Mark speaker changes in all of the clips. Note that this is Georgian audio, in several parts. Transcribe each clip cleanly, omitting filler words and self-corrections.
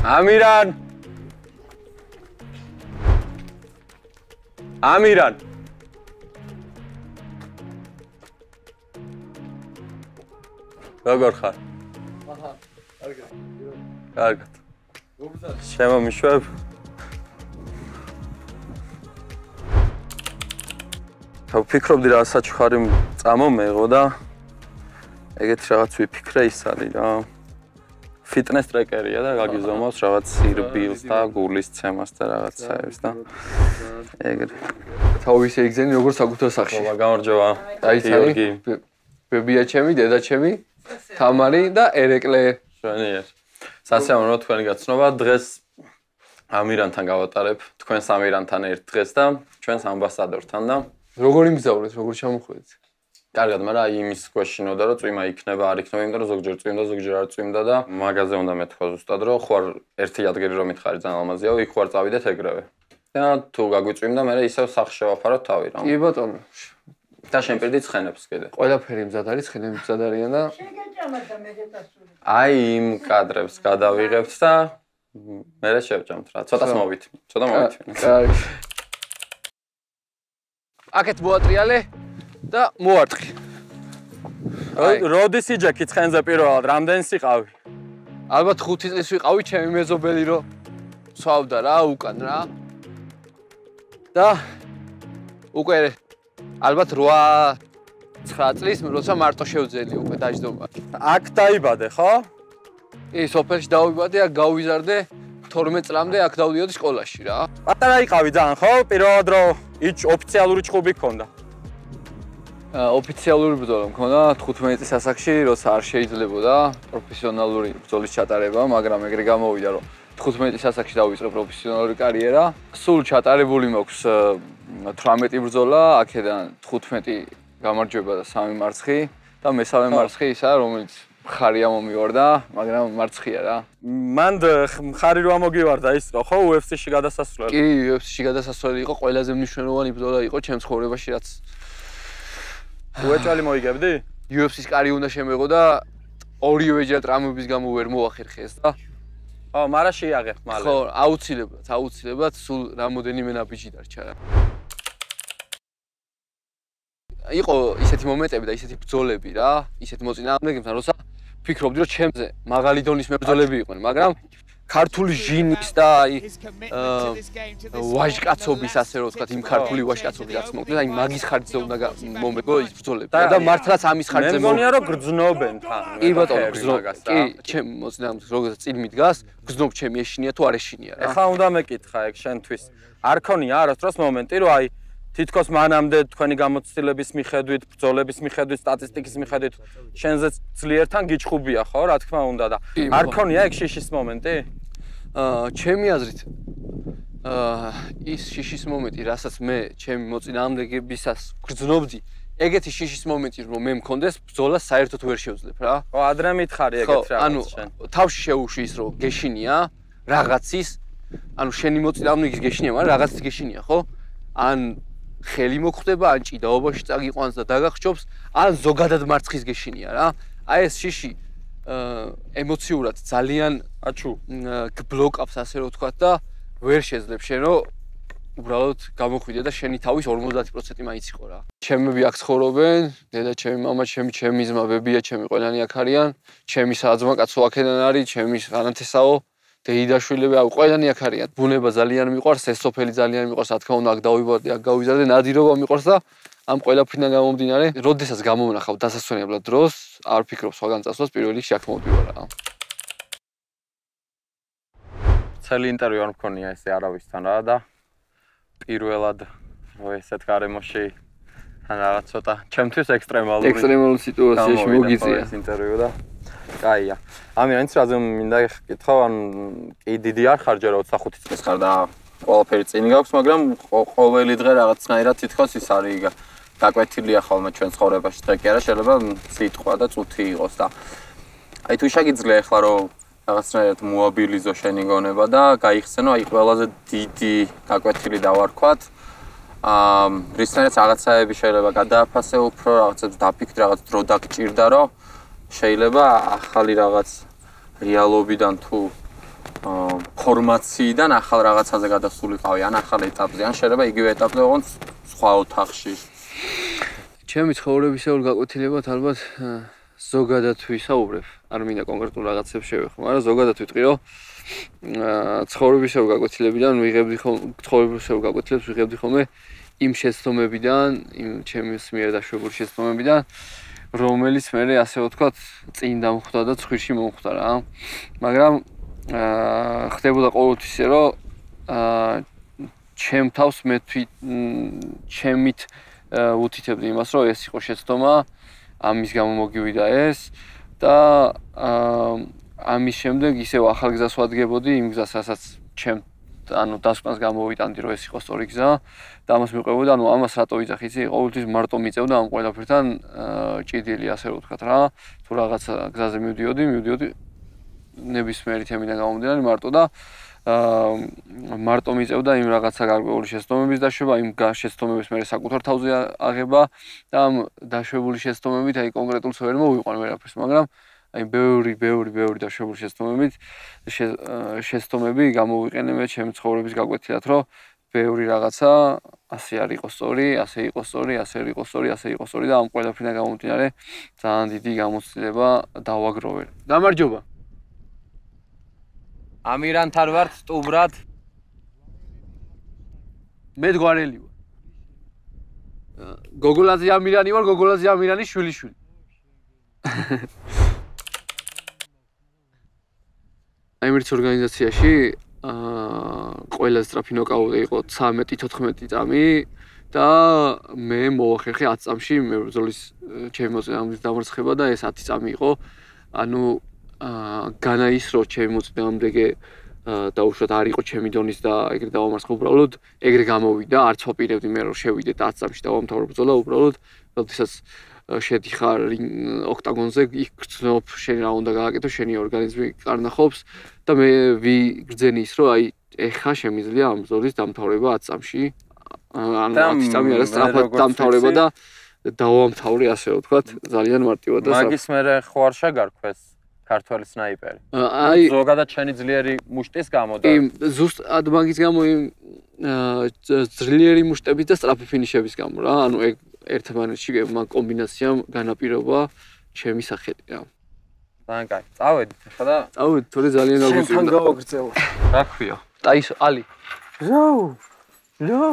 Speaker 1: ამირან ამირან როგორ ხარ?
Speaker 2: აჰა, კარგად.
Speaker 1: კარგად.
Speaker 2: გობრძალე.
Speaker 1: შემომიშვებ. ვფიქრობდი რა საჩუქარი წამომეღო და ეგეთი რაღაც ვიფიქრე ის არის რა. ფიტნეს ტრეკერია და გაგიზომავს რაღაც სირბილს და გულის ცემას და რაღაცაებს და ეგრე.
Speaker 2: თავის ეგზენი როგორ საკუთარ სახში.
Speaker 1: ვა გამარჯობა.
Speaker 2: აი
Speaker 1: გიორგი.
Speaker 2: ბებია ჩემი, დედა ჩემი, თამარი და ერეკლე.
Speaker 1: შვენიერ. სასიამოვნო თქვენი გაცნობა. დღეს ამირანთან გავატარებ. თქვენს ამირანთან ერთ დღეს და ჩვენს ამბასადორთან და
Speaker 2: როგორ იმგზავრეთ, როგორ ჩამოხვედით?
Speaker 1: კარგად, მაგრამ აი იმის გვეშინოდა, რომ წვიმა იქნება, არ იქნება, იმიტომ რომ ზოგჯერ წვიმდა, ზოგჯერ არ წვიმდა და მაგაზე უნდა მეთქვა ზუსტად, რომ ხوار ერთი ადგილი რომ მითხარი ძალიან ალმაზია, იქ ხوار წავიდეთ ეგრევე. და თუ გაგვიწვიმდა, მე ისევ სახში შევაფაროთ თავი რა.
Speaker 2: კი ბატონო.
Speaker 1: და შენ პირდი ცხენებს კიდე.
Speaker 2: ყველაფერი მზად არის, ცხენები მზად არიან და
Speaker 3: შეგეჭამათა მე გეტასული.
Speaker 1: აი იმ კადრებს გადავიღებთ და მე შევჭამთ რა. ცოტას მოვით. ცოტა მოვით.
Speaker 2: კარგი. აკეთ მოატრიალე და მოარტყი.
Speaker 1: როდის იჯექი ცხენზე პირველად, რამდენი სიყავი?
Speaker 2: ალბათ 5 წლის ვიყავი, ჩემი მეზობელი რო სვავდა რა, უკან რა. და უკვე ალბათ 8-9 წლის როცა მარტო შევძელი უკვე დაждდომა.
Speaker 1: აქ დაიბადე, ხო?
Speaker 2: კი, სოფელში დავიბადე, აქ გავიზარდე 12 წლამდე აქ დავდიოდი სკოლაში რა.
Speaker 1: პატარა იყავი ძალიან, ხო? პირველად რო ოფიციალური ჭხუბი ქონდა.
Speaker 2: ოფიციალური ბრძოლა მქონდა 15 წლის ასაკში, როცა არ შეიძლებოდა პროფესიონალური ბრძოლის ჩატარება, მაგრამ ეგრე გამოვიდა, რომ 15 წლის ასაკში დავიწყე პროფესიონალური კარიერა. სულ ჩატარებული მაქვს 18 ბრძოლა, აქედან 15 გამარჯვება და 3 მარცხი და მესამე მარცხი ისა, რომელიც მხარია მომივარდა, მაგრამ მარცხია რა.
Speaker 1: მანდ მხარი რო ამოგივარდა ის ხო UFC-ში გადასასვლელი?
Speaker 2: კი, UFC-ში გადასასვლელი იყო, ყველაზე მნიშვნელოვანი ბრძოლა იყო ჩემს ცხოვრებაში, რაც
Speaker 1: უეჭველი მოიგებდი?
Speaker 2: UFC-ს კარი უნდა შემეღო და ორივეჯერ ტრამვების გამო ვერ მოახერხეს და
Speaker 1: ხო, მარა შეიაღებ მალე.
Speaker 2: ხო, აუცილებლად, სულ რამოდენიმე ნაბიჯი დარჩა რა. იყო ისეთი მომენტები და ისეთი ბრძოლები რა, ისეთი მოწინააღმდეგებთან, როცა ფიქრობდი, რომ ჩემზე მაღალი დონის მებრძოლები იყვნენ, მაგრამ ქართული ჟინის და აი ვაჟკაცობის ასე რომ ვთქვათ, იმ ქართული ვაჟკაცობის რაც მოკლედ, აი მაგის ხარჯზე უნდა მომეგო ის ბრძოლები და მართლაც ამის ხარჯზე
Speaker 1: მე მგონია რომ გრძნობენ თან.
Speaker 2: კი ბატონო, გრძნობ. კი, ჩემ მოწინააღმდეგეს როგორც წინ მიდგას, გრძნობ ჩემი ეშინია თუ არ ეშინია რა.
Speaker 1: ეხლა უნდა მეკითხა ეგ შენთვის. არ ქონია არასდროს მომენტი, რომ აი თითქოს მანამდე თქვენი გამოცდილების მიხედვით, ბრძოლების მიხედვით, სტატისტიკის მიხედვით, შენზე ძლიერთან გიჩხუბია, ხო, რა თქმა უნდა და არ ქონია ეგ შიშის მომენტი?
Speaker 2: ჩემი აზრით ის შიშის მომენტი, რასაც მე ჩემი მოწინააღმდეგებისას გრძნობდი, ეგეთი შიშის მომენტი რომ მე მქონდეს, ბრძოლას საერთოდ ვერ შევძლებ რა.
Speaker 1: ხო, ადრე მითხარი ეგეთ რაღაც შენ.
Speaker 2: თავში შეუშვი ის რომ გეშინია რაღაცის, ანუ შენი მოწინააღმდეგის გეშინია, მაგრამ რაღაცის გეშინია, ხო? ან ხელი მოხვდება, ან ჭიდაობაში წაგიყვანს და დაგახჭობს, ან ზოგადად მარცხის გეშინია რა. აი ეს შიში ემოციურად ძალიან გბლოკავს ასე რომ ვთქვათ და ვერ შეძლებ შენ რომ უბრალოდ გამოხვიდე და შენი თავის 50% მაინც იყო რა. ჩემები აქ ცხოვრობენ, დედა ჩემი, მამა ჩემი, ჩემი ძმა, ბებია ჩემი, ყველანი აქ არიან, ჩემი საძმა კაცო აქედან არის, ჩემი ანათესაო დეიდაშვილები, ყველანი აქ არიან. ბუნება ძალიან მიყვარს, ეს სოფელი ძალიან მიყვარს, რა თქმა უნდა, აქ დავიბადე, აქ გავიზარდე, ნადირობა მიყვარს და ამ ყველაფრიდან გამომდინარე, როდესაც გამოვნახავ დასასვენებლად დროს, არ ვფიქრობ სხვაგან წასვლას, პირველ რიგში აქ მოვდივარ რა.
Speaker 1: ცელი ინტერვიუ არ მქონია ესე არავისთან რა და პირველად ესეთ გარემოში ან რაღაც ცოტა ჩემთვის
Speaker 2: ექსტრემალური სიტუაციაში მოგიწია
Speaker 1: ეს ინტერვიუ და კაია. ამიტომ რაზე მინდა გეკითხო, ან კი დიდი არ ხარ ჯერ 25 წლის ხარ და ყველაფერი წინ გაქვს, მაგრამ ყოველი დღე რაღაცნაირად თითქოს ის არის გაკვეთილია ხოლმე ჩვენ ცხოვრებაში. დღე კი არა შეიძლება სიტყვა და წუთი იყოს და აი თუ შეგიძლია ახლა რომ რაღაცნაირად მოაბილიზო შენი გონება და გაიხსენო აი ყველაზე დიდი გაკვეთილი დავარქვათ. რისთანაც რაღაცაები შეიძლება გადააფასე უფრო, რაღაცებს დაფიქრე, რაღაც დრო დაგჭირდა, რომ შეიძლება ახალი რაღაც რეალობიდან თუ ფორმაციიდან ახალ რაღაცაზე გადასულიყავი, ან ახალ ეტაპზე, ან შეიძლება იგივე ეტაპზე ოღონდ სხვა ოთახში.
Speaker 2: ჩემი ცხოვრებისეულ გაკვეთილებად ალბათ ზოგადად ვისაუბრებ, არ მინდა კონკრეტულ რაღაცებს შევეხო, მაგრამ ზოგადად ვიტყვი, რომ ცხოვრებისეულ გაკვეთილებიდან ვიღებდი ხოლმე იმ შეცდომებიდან, იმ ჩემს მიერ დაშვებული შეცდომებიდან, რომელიც მე ასე ვთქვათ, წინ დამხვდა და ცხვირში მომხვდა რა. მაგრამ ხდებოდა ყოველთვის ისე, რომ ჩემ თავს მე ჩემით უთითებდი იმას, რომ ეს იყო შეცდომა, ამის გამო მოგივიდა ეს და ამის შემდეგ ისევ ახალ გზას ვადგებოდი, იმ გზას, რასაც ჩემ დასკვნას გამოვიტანდი, რომ ეს იყო სწორი გზა და ამას მიყვებოდი, ამას რატო ვიძახი, იცი, ყოველთვის მარტო მიწევდა ამ ყველაფერთან ჭიდილი, ასე რომ ვთქვათ რა, თუ რაღაც გზაზე მივდიოდი ნებისმიერი თემიდან გამომდინარე მარტო და მარტო მიწევდა იმ რაღაცა გარკვეული შეცდომების დაშვება, იმ შეცდომების მე საკუთარ თავზე აღება და ამ დაშვებული შეცდომებით აი კონკრეტულს ვერ მოვიყვან ვერაფერს, მაგრამ აი ბევრი დაშვებული შეცდომები გამოვიყენე მე ჩემი ცხოვრების გაკვეთილად, რომ ბევრი რაღაცა ასე არ იყო სწორი, ასე იყო სწორი, ასე არ იყო სწორი, ასე იყო სწორი და ამ ყველაფერიდან გამომდინარე ძალიან დიდი გამოცდილება დავაგროვე. გამარჯობა.
Speaker 1: ამირანთან ვარ სტუბრად.
Speaker 2: მე გვარელი ვარ. გოგოლაძე ამირანი ვარ, გოგოლაძე ამირანის შვილიშვილი. აიმერც ორგანიზაციაში ყველა სწრაფი ნოკაუტი იყო 13-14 წამი და მე მოვახერხე 10 წამში მებრძოლის ჩემი მოწინააღმდეგის დამარცხება და ეს 10 წამი იყო. ანუ განაისრო ჩემი მოწინააღმდეგე დაუშვათ არ იყო ჩემი დონის და ეგრე დავამარცხე უბრალოდ ეგრე გამოვიდა, არც ვაპირებდი მე რომ შევიდე 10 წამში დავამთავრე ბრძოლა უბრალოდ, როდესაც შედიხარ ოქტაგონზე, იქ გრძნობ, შენ რა უნდა გააკეთო, შენი ორგანიზმი კარნახობს და მე ვიგრძენი ის, რომ აი ეხა შემიძლია ამ ბრძოლის დამთავრება 10 წამში. ანუ 10 წამი არა სწრაფად დამთავრება და დავამთავრე, ასე ვთქვათ, ძალიან მარტივად და
Speaker 1: მაგის მერე ხო არ შეგარქვეს ქართველი სნაიპერი.
Speaker 2: აი
Speaker 1: ზოგადად შენი ძლიერი მუშტის გამო და
Speaker 2: ზუსტად მაგის გამო იმ ძლიერი მუშტების და სწრაფი ფინიშების გამო რა. ანუ ეგ ერთმანეთში მაგ კომბინაციამ განაპირობა ჩემი სახელი რა.
Speaker 1: ძალიან კაი. წავედით ახლა და
Speaker 2: წავედით, თორე ძალიან გაგვიწევდა.
Speaker 1: შენთან გავაგრძელო. რა ქვია?
Speaker 2: ალი.
Speaker 1: ლო.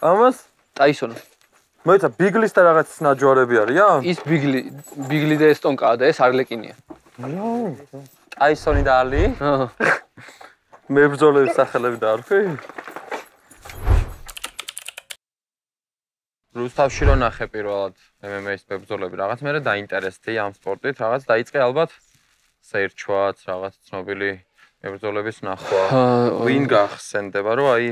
Speaker 1: ამას
Speaker 2: ტაისონი.
Speaker 1: მოიცა ბიგლის და რაღაც ნაჯვარები არიან?
Speaker 2: ის ბიგლი და ესტონკაა და ეს არლეკინია.
Speaker 1: ლო. ტაისონი და ალი? მებრძოლების სახელები დაარქვი? რუსთავში რო ნახე პირველად MMA-ის მებრძოლები რაღაც მე დაინტერესდი ამ სპორტით, რაღაც დაიწყე ალბათ საერთოდ რაღაც ცნობილი მებრძოლების ნახვა. ვინ გახსენდება, რომ აი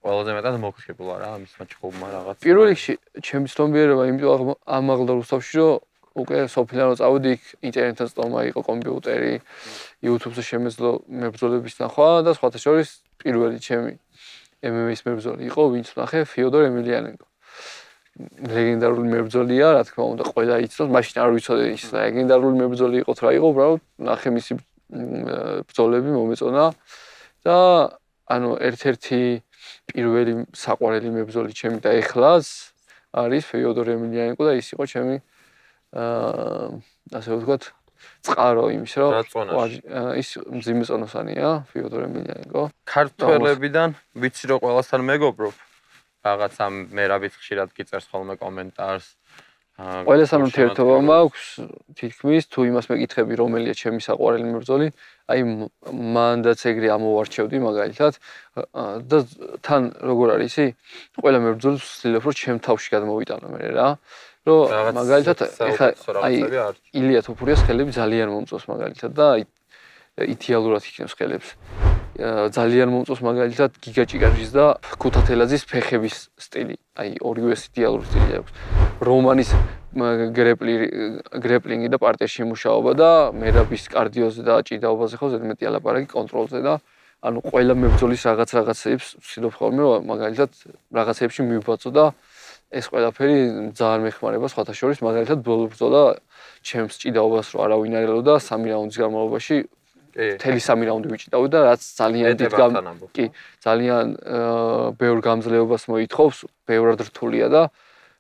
Speaker 1: ყველაზე მეტად მოგხიბლა რა ამის მაჩხუბმა რაღაც.
Speaker 2: პირველ რიგში ჩემი ცნობიერება იმიტომ ამაღლდა რუსთავში, რომ უკვე სოფლიდან რო წავედი, იქ ინტერნეტთან წტომა იყო, კომპიუტერი, YouTube-ზე შემეძლო მებრძოლების ნახვა და სხვათა შორის პირველი ჩემი MMA-ის მებრძოლი იყო, ვინც ნახე ფიოდორ ემილიანენკო. ლეგენდარული მებრძოლია, რა თქმა უნდა, ყველა იცნობს, მაშინ არ ვიცოდი ის ლეგენდარული მებრძოლი იყო თუ რა იყო, უბრალოდ ნახე მისი ბრძოლები მომეწონა და ანუ ერთ-ერთი პირველი საყვარელი მებრძოლი ჩემი და ეხლაც არის ფიოდორ ემილიანენკო და ის იყო ჩემი ასე ვთქვათ, წყარო იმის, რომ ის მძიმე წონოსანია, ფიოდორ ემილიანენკო.
Speaker 1: ქართველებიდან ვიცი რომ ყველასთან მეგობრობ. რაღაცა მე რაბიც ხშირად გიწერს ხოლმე კომენტარს.
Speaker 2: ყველასთან ურთიერთობა მაქვს, თითქმის თუ იმას მეკითხები, რომელია ჩემი საყვარელი მებრძოლი, აი მანდაც ეგრე ამოვარჩევდი მაგალითად და თან როგორ არის ისი? ყველა მებრძოლს ვცდილობ რომ ჩემ თავში გადმოვიტანო მე რა. რომ მაგალითად ეხა აი ილია თოფურიას ხელები ძალიან მომწონს მაგალითად და აი იდეალურად იქნევს ხელებს. ძალიან მომწონს მაგალითად გიგა ჭიკაჭის და ქუთათელაძის ფეხების სტილი. აი ორივეს იდეალური სტილი აქვს. რომანის გრეპლინგი და პარტიაში მუშაობა და მერაბის კარდიოზე და ჭიდაობაზე ხო ზედმეტი ალაპარაკი კონტროლზე და ანუ ყველა მებრძოლის რაღაცებს ვცდილობ ხოლმე რომ მაგალითად რაღაცებში მივბაწო და ეს ყველაფერი ძალიან მეხმარება სხვათა შორის მაგალითად ბრძოლა ჩემს ჭიდაობას რო არავინ არ ელოდა 3 რაუნდის განმავლობაში მთელი 3 რაუნდი ვიჭიდავდი და რაც ძალიან დიდ კი ძალიან ბევრ გამძლეობას მოითხოვს, ბევრად რთულია და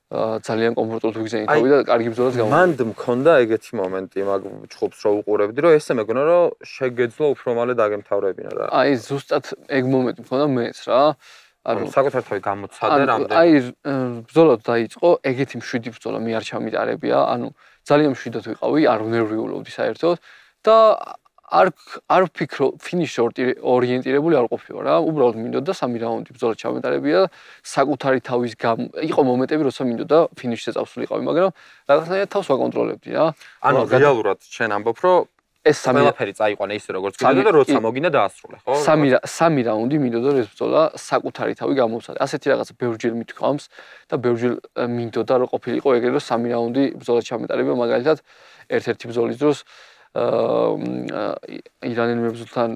Speaker 2: ძალიან კომფორტულად ვიგზავნითავი და კარგი ბრძოლაც გამოვიდა.
Speaker 1: მანდ მქონდა ეგეთი მომენტი მაგ ჩხუბს რო უყურებდი, რომ ესე მეგონა რომ შეგეძლო უფრო მალე დაგემთავრებინა რა.
Speaker 2: აი ზუსტად ეგ მომენტი მქონდა მეც რა.
Speaker 1: ანუ საკუთარ თავი გამოცადე რამდენი.
Speaker 2: აი ბრძოლა დაიწყო, ეგეთი მშვიდი ბრძოლა მე არ ჩამიტარებია, ანუ ძალიან მშვიდად ვიყავი, არ ვნერვიულობდი საერთოდ და არ ვფიქრო ფინიშში ორიენტირებული არ ყოფილა რა. უბრალოდ მინდოდა 3 რაუნდი ბრძოლა ჩამეტარებია, საკუთარი თავის იყო მომენტები, როცა მინდოდა ფინიშზე წავსულიყავი, მაგრამ რაღაცნაირად თავს ვაკონტროლებდი რა.
Speaker 1: ანუ რეალურად შენ ამბობ, რომ
Speaker 2: ეს
Speaker 1: ყველაფერი წაიყვანა ისე როგორც გინდა და როცა მოგინდა დაასრულე, ხო?
Speaker 2: 3 რაუნდი მინდოდა ეს ბრძოლა საკუთარი თავი გამოვცადე. ასეთი რაღაცა ბევრჯერ მithქვამს და ბევრჯერ მინდოდა რომ ყოფილიყო ეგრე რომ 3 რაუნდი ბრძოლა ჩამეტარებია, მაგალითად ერთ-ერთი ბრძოლის დროს ირანელ მებრძოლთან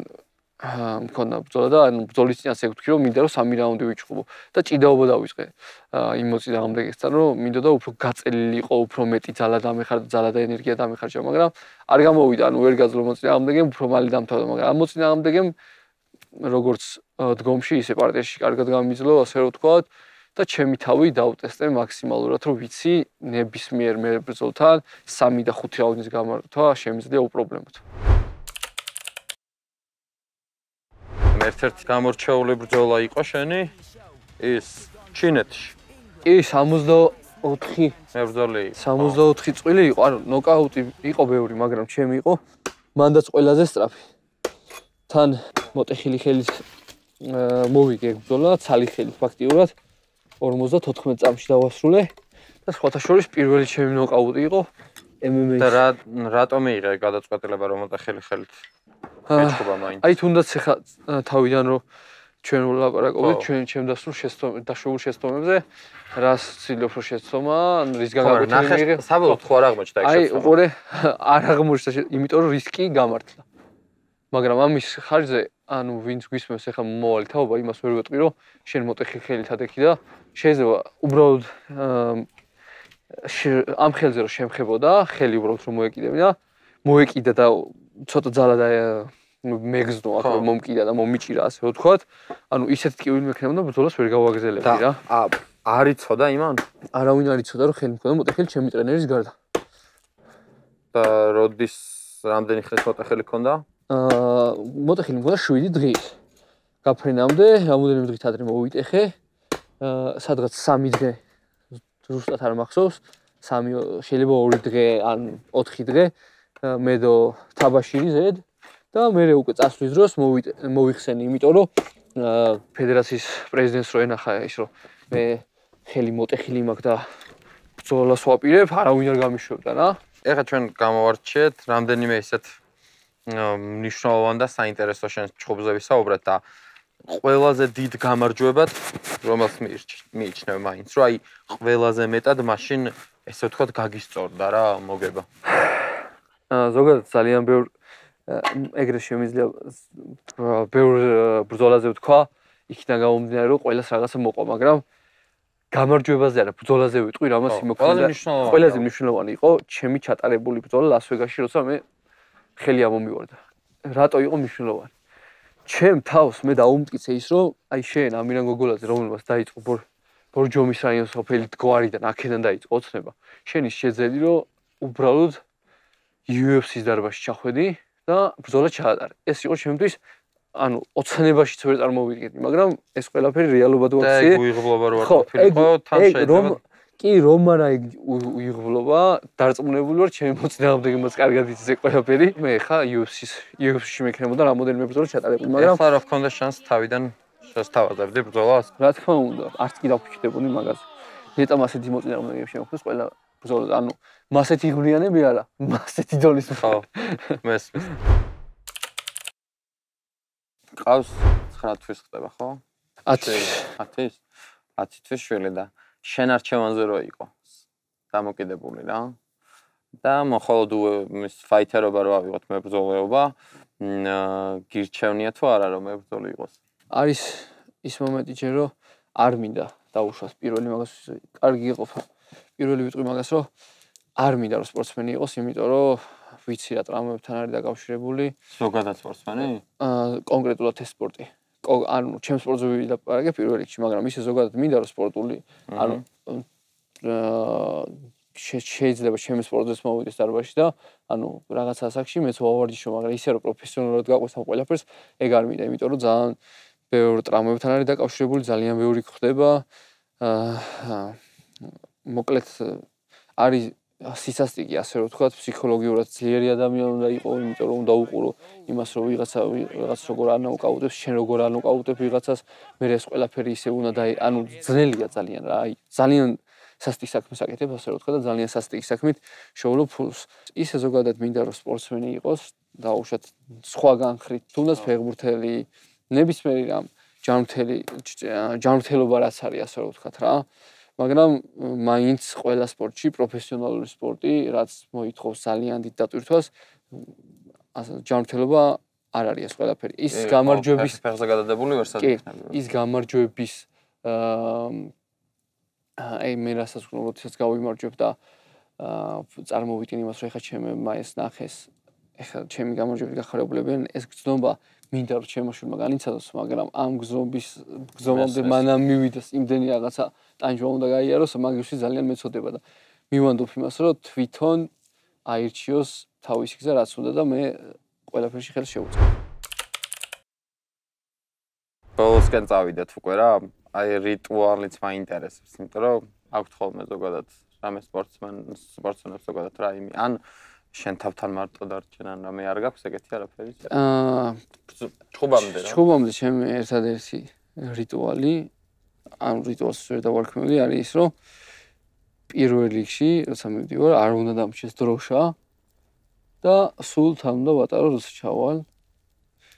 Speaker 2: მქონდა ბრძოლა და ანუ ბრძოლის წინას ეგ ვთქვი რომ მინდა რომ 3 რაუნდი ვიჭყობო და ჭიდაობა დავიწყე იმ მოწინააღმდეგესთან რომ მინდოდა უფრო გაწელილიყო, უფრო მეტი ძალა დამეხარდა, ძალა და ენერგია დამეხარჯა, მაგრამ არ გამოვიდა, ანუ ვერ გაძლო მოწინააღმდეგემ, უფრო მალე დამთავრდა, მაგრამ ამ მოწინააღმდეგემ როგორც დგომში, ისე პარტიაში კარგად გამიძლო, ასე რომ ვთქვათ და ჩემი თავი დავტესტე მაქსიმალურად, რომ ვიცი ნებისმიერ მებრძოლთან 3 და 5 რაუნდის გამართვა შემიძლია უპრობლემოდ.
Speaker 1: ერთ-ერთი გამორჩეული ბრძოლა იყო შენი ის ჩინეთში.
Speaker 2: კი, 64
Speaker 1: მებრძოლი.
Speaker 2: 64 წვილი იყო, ანუ ნოკაუტი იყო ბევრი, მაგრამ ჩემი იყო მანდაც ყველაზე სწრაფი. თან მოტეხილი ხელის მოვიგე ბრძოლა, ცალი ხელით ფაქტიურად 54 წამში დავასრულე და სხვათა შორის პირველი ჩემი ნოკაუტი იყო MMA-ში.
Speaker 1: და რატომ მიიღე გადაწყვეტილება რომ მოტეხილი ხელით? მეწყობა მაინც.
Speaker 2: აი თუნდაც ახლა თავიდან რომ ჩვენ ვლაპარაკობთ, ჩემ დაშვებულ შეცდომებზე, რას ცდილობ რომ შეცდომა, რის გაგაგოჩინე მიიღე.
Speaker 1: საბოლოოდ ხო არ აღმოჩნდა ეს
Speaker 2: შეცდომა. აი უყურე, არ აღმოჩნდა, იმიტომ რომ რისკი გამართლა. მაგრამ ამის ხარჯზე, ანუ ვინც გვისმენს ახლა მომავალი თაობა, იმას ვერ ვეტყვი რომ შენ მოტეხილი ხელით ადექი და შეიძლება უბრალოდ ამ ხელზე რომ შემხებოდა, ხელი უბრალოდ რომ მოეკიდა და ცოტა ძალა და მეგზნო აქ რომ მომკიდა და მომიჭირა ასე ვთქვათ. ანუ ისეთ ტკივილი მექნებოდა ბრძოლას ვერ გავაგრძელებდი რა.
Speaker 1: არ იცოდა იმან?
Speaker 2: არავინ არ იცოდა რომ ხელი მქონდა მოტეხილი ჩემი ტრენერის გარდა.
Speaker 1: და როდის რამდენი ხნის მოტეხილი ქონდა?
Speaker 2: მოტეხილი მქონდა 7 დღის. გაფრენამდე, რამოდენიმე დღით ადრე მოვიტეხე. სადღაც 3 დღე ზუსტად არ მახსოვს. 3 შეიძლება 2 დღე ან 4 დღე მედო თაბაშირი ზედ და მე უკვე წასვლის დროს მოვიხსენი, იმიტომ რომ ფედერაციის პრეზიდენტს რო ენახა ის რომ მე ხელი მოტეხილი მაქვს და ბრძოლას ვაპირებ, არავინ არ გამიშვებდა რა.
Speaker 1: ეხლა ჩვენ გამოვარჩიეთ რამდენიმე ისეთ მნიშვნელოვან და საინტერესო შენ ჩხუბზე ვისაუბრეთ და ყველაზე დიდ გამარჯვებად რომელს მიიჩნევ მაინც რომ აი ყველაზე მეტად მაშინ ესე ვთქვათ გაგისწორდა რა მოგება.
Speaker 2: ზოგადად ძალიან ბევრ ეგრე შემიძლია ბევრ ბრძოლაზე ვთქვა, იქიდან გამომდინარე რომ ყველას რაღაცა მოყვა, მაგრამ გამარჯვებაზე არა, ბრძოლაზე ვიტყვი, რამაც იმოქმედა. ყველაზე მნიშვნელოვანი იყო ჩემი ჩატარებული ბრძოლა ლას-ვეგასში, როცა მე ხელი ამომივარდა. რატო იყო მნიშვნელოვანი? ჩემ თავს მე დაუმტკიცე ის, რომ აი შენ ამირან გოგოლაძე, რომელმაც დაიწყო ბორჯომის რაიონის სოფელი დგوارიდან, აქედან დაიწყო ოცნება. შენ ის შეძელი, რომ უბრალოდ UFC-ს დარბაზში ჩახვედი და ბრძოლა ჩაატარე. ეს იყო ჩემთვის, ანუ ოცნებაშიც ვერ წარმოვიდგენდი, მაგრამ ეს ყველაფერი რეალობად ვაქციე.
Speaker 1: და უიღბლობა რო არ ყოფილიყო, თან შეიძლება
Speaker 2: კი რომ არა უიღბლობა, დარწმუნებული ვარ ჩემი მოწინააღმდეგემაც კარგად იცის ეს ყველაფერი. მე ხა UFC-ში მექნებოდა რამოდენიმე ბრძოლა ჩატარებული, მაგრამ
Speaker 1: ახლა რა ვქონდა შანსი თავიდან შესთავაზებდი ბრძოლას?
Speaker 2: რა თქმა უნდა, არც კი დავფიქრდებოდი მაგაზე. ნეტამ ასეთი მოწინააღმდეგე შემოხდეს ყველა ბრძოლა, ანუ მასეთი ღმრიანები არა, მასეთი დონის
Speaker 1: ხო, მესმის. ყავს 9 თვის ხდება, ხო? 10 თვის შვილი და შენ არჩევანზე რო იყო დამოკიდებული რა. და მხოლოდ მის ფაითერობა რო ავიღოთ მებრძოლეობა, გირჩევნია თუ არა რომ მებრძოლი იყოს?
Speaker 2: არის ის მომენტი ჯერ რომ არ მინდა დაუშვას პირველი მაგას კარგი იყო. პირველი ვიტყვი მაგას რომ არ მინდა რომ სპორტსმენი იყოს, იმიტომ რომ ვიცი რა ტრამვებთან არის დაკავშირებული.
Speaker 1: ზოგადად სპორტსმენი?
Speaker 2: კონკრეტულად ეს სპორტი. ანუ ჩემს სპორტზე ვილაპარაკე პირველ რიგში, მაგრამ ისე ზოგადად მინდა რომ სპორტული, ანუ შეიძლება ჩემს სპორტზეც მოვიდეს დარბაზში და ანუ რაღაც ასაკში მეც ვავარჯიშო, მაგრამ ისე რომ პროფესიონალურად გაყვეს ამ ყველაფერს, ეგ არ მინდა, იმიტომ რომ ძალიან ბევრი ტრამვებთან არის დაკავშირებული, ძალიან ბევრი ხდება. მოკლედ არის სისასტიკი, ასე რომ ვთქვათ, ფსიქოლოგიურად ძლიერი ადამიანი უნდა იყო, იმიტომ რომ უნდა უყურო იმას, რომ ვიღაც როგორ არ ნოკაუტებს, შენ როგორ არ ნოკაუტებ ვიღაცას, მე ეს ყველაფერი ისე უნდა ანუ ძნელია ძალიან რა, აი ძალიან სასტიკ საქმეს აკეთებ, ასე რომ ვთქვა და ძალიან სასტიკ საქმით შოულობ ფულს. ისე ზოგადად მინდა რომ სპორტსმენი იყოს, დაუშვათ სხვაგან ხრით, თუნდაც ფეხბურთელი, ნებისმიერი რამ, ჯანმრთელობა რაც არის, ასე რომ ვთქვათ რა. მაგრამ მაინც ყველა სპორტში პროფესიონალური სპორტი, რაც მოითხოვს ძალიან დიდ დატვირთვას, ჯანმრთელობა არ არის ეს ყველაფერი. ის გამარჯვების
Speaker 1: ფეხზე გადადებული ვერსად იქნება.
Speaker 2: ის გამარჯვების აი მე რასაც ვქნა, როდესაც გავიმარჯვებ და წარმოვიდგენ იმას, რომ ეხლა ჩემმა ეს ნახეს, ეხლა ჩემი გამარჯვებით გახარებულებიან, ეს გზნობა მინდა რომ ჩემო შვილმა განიცადოს, მაგრამ ამ გზნობამდე მანამ მივიდეს იმდენი რაღაცა ტანჯვა უნდა გაიაროს, მაგისთვის ძალიან მეწოდება და მივანდობ იმას, რომ თვითონ აირჩიოს თავისი გზა რაც უნდა და მე ყველაფერში ხელს შევუწყო.
Speaker 1: ბოლოსკენ წავიდეთ უკვე რა, აი რიტუალიც მაინტერესებს, იმიტომ რომ აქვთ ხოლმე ზოგადად რამე სპორტსმენებს ზოგადად რა იმი, ან შენ თავთან მარტო დარჩენ, ან რამე არ გაქვს ეგეთი არაფერი?
Speaker 2: ჩხუბამდე ჩემი ერთადერთი რიტუალი, ან რიტუალს ვერ დავარქმევდი, არის ის, რომ პირველ რიგში, როცა მივდივარ, არ უნდა დამრჩეს დროშა და სულ თან უნდა ვატარო, როცა ჩავალ.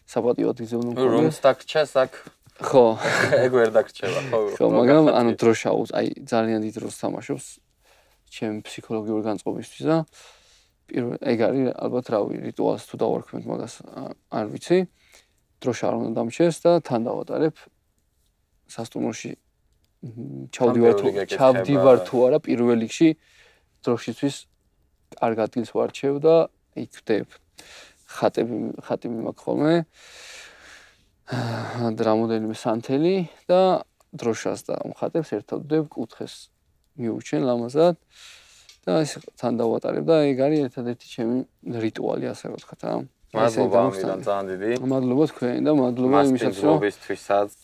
Speaker 2: საპატიო ადგილზე უნდა მქონდეს.
Speaker 1: რომს დაგრჩეს აქ?
Speaker 2: ხო.
Speaker 1: ეგ ვერ დაგრჩება, ხო.
Speaker 2: ხო, მაგრამ ანუ დროშა აი ძალიან დიდ როლს თამაშობს ჩემ ფსიქოლოგიური განწყობისთვის და ეგ არის ალბათ რავი რიტუალს თუ დავარქმევთ მაგას არ ვიცი. დროშა არ უნდა დამრჩეს და თან დავატარებ სასტუმროში ჩავდივარ თუ არა პირველ რიგში დროშისთვის კარგ ადგილს ვარჩევ და იქ ვდებ. ხატი მიმაქვს ხოლმე. რამოდენიმე სანთელი და დროშას და მხატებს ერთად ვდებ, კუთხეს მიუჩენ ლამაზად და ეს თან დავატარებ და ეგ არის ერთადერთი ჩემი რიტუალი, ასე რომ ვთქვათ რა.
Speaker 1: მადლობა ამიდან ძალიან დიდი.
Speaker 2: მადლობა თქვენ და მადლობა იმისათვის რომ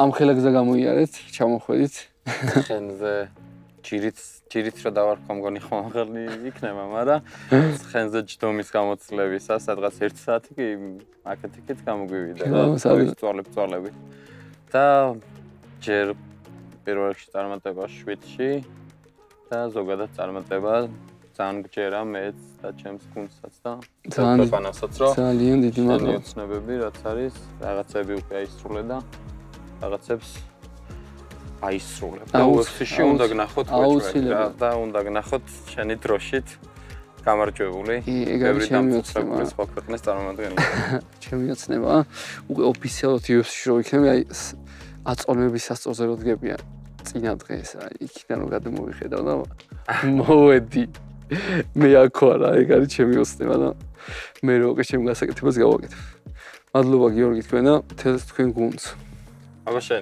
Speaker 2: ამ ხელაგზა გამოიარეთ, ჩამოხვედით.
Speaker 1: ხენზე ჯირით რა დავარქვა მგონი ხომაღალი იქნება, მაგრამ ხენზე ჯდომის გამოცლებისას სადღაც 1 საათი კი აქეთ-იქით გამოგვივიდა და წვალები. და ჯერ პირველ რიგში წარმატება 7-ში და ზოგადად წარმატება ძალიან გჯერა მეც და ჩემს გუნდსაც და ქვეყანასაც რომ
Speaker 2: ძალიან დიდი მადლობა.
Speaker 1: ცნობები რაც არის, რაღაცები უკვე აისრულე და რაღაცებს აისრულებ. და UFC-ში უნდა გნახოთ
Speaker 2: აუცილებლად
Speaker 1: და უნდა გნახოთ შენი დროშით გამარჯვებული.
Speaker 2: ეგ არის ჩემი ოცნება.
Speaker 1: სხვა ქვეყნის წარმომადგენელი.
Speaker 2: ჩემი ოცნება. უკვე ოფიციალურად UFC-ში რო იქნები, აი აწონების სასწორზე რო დგებიან წინა დღეს, აი იქიდან რო გადმოვიხედავ და მოვედი. მე აქ ვარ, ეგ არის ჩემი ოცნება და მე რო ჩემ გასაკეთებას გავაკეთებ. მადლობა გიორგი თქვენ და მთელს თქვენ გუნდს.
Speaker 1: აბა შენ